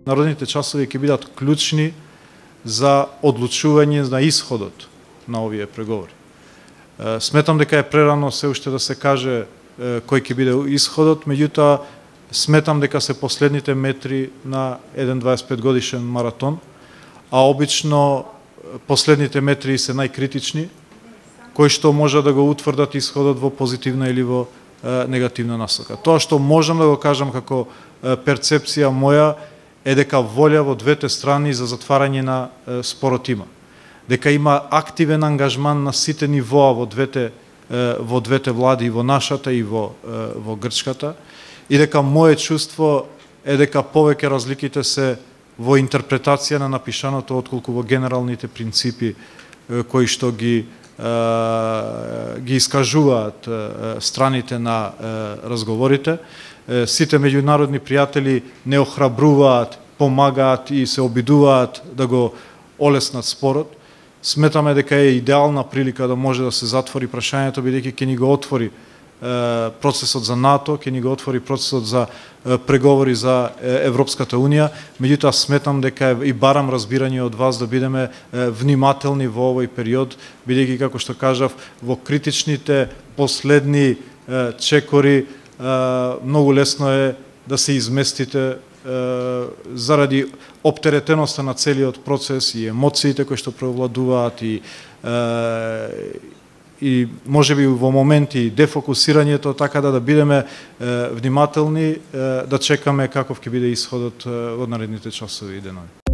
Народните часови ќе бидат клучни за одлучување на исходот на овие преговори. Сметам дека е прерано се уште да се каже кој ќе биде исходот, меѓутоа сметам дека се последните метри на еден 25 годишен маратон, а обично последните метри се најкритични, кои што може да го утврдат исходот во позитивна или во негативна насока. Тоа што можам да го кажам како перцепција моја е дека волја во двете страни за затварање на спорот има. Дека има активен ангажман на сите нивоа во двете влади, и во нашата и во грчката, и дека мое чувство е дека повеќе разликите се во интерпретација на напишаното отколку во генералните принципи кои што ги искажуваат страните на разговорите. Сите меѓународни пријатели не охрабруваат, помагаат и се обидуваат да го олеснат спорот. Сметаме дека е идеална прилика да може да се затвори прашањето, бидејќи ќе ни го отвори процесот за НАТО, ќе ни го отвори процесот за преговори за Европската Унија. Меѓутоа сметам дека и барам разбирање од вас да бидеме внимателни во овој период, бидејќи како што кажав, во критичните последни чекори многу лесно е да се изместите заради оптеретеноста на целиот процес и емоциите кои што преовладуваат и можеби во моменти дефокусирањето, така да бидеме внимателни, да чекаме каков ќе биде исходот во наредните часови и денови.